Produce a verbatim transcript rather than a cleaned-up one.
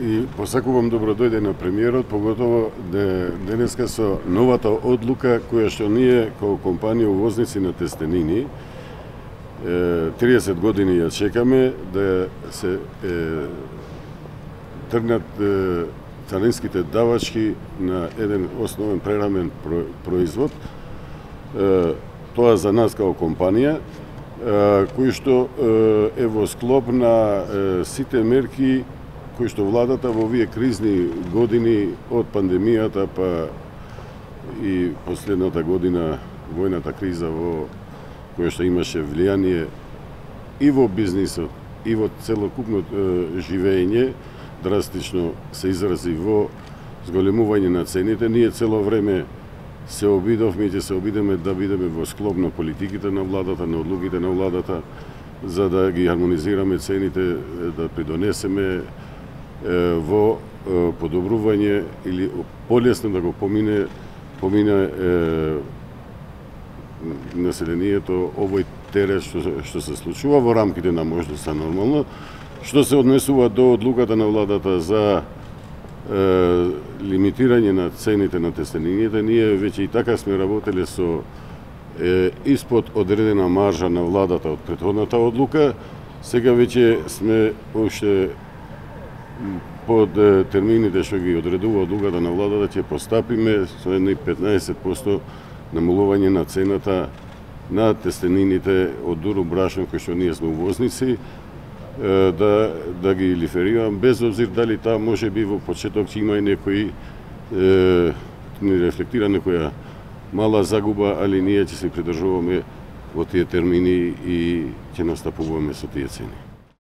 и посакувам добро дојде на премиерот, поготово денеска со новата одлука која што ние како компанија увозници на тестенини триесет години ја чекаме да се е, тргнат е, царинските давачки на еден основен прерамен производ. Е, тоа за нас како компанија, кој што е во склоп на сите мерки кои што владата во овие кризни години од пандемијата па и последната година војната криза во која што имаше влијание и во бизнисот и во целокупното живење, драстично се изрази во зголемување на цените. Ние цело време се обидовме и ќе се обидеме да бидеме во склоп на политиките на владата, на одлуките на владата, за да ги хармонизираме цените, да придонесеме во подобрување или полесно да го помине помине е, населението овој терет што, што се случува во рамките на можноста нормално. Што се однесува до одлуката на владата за е, лимитирање на цените на тестенините, ние веќе и така сме работеле со е, испод одредена маржа на владата од претходната одлука. Сега веќе сме уште под термините што ги одредува одлуката на владата, ќе постапиме со едни петнаесет проценти намалување на цената на тестенините од дуро брашно кој што ние сме увозници, да, да ги лиферирам, без обзир дали таа може би во почеток ќе има и некои е, не рефлектира некоја мала загуба, али ние ќе се придржуваме во тие термини и ќе настапуваме со тие цени.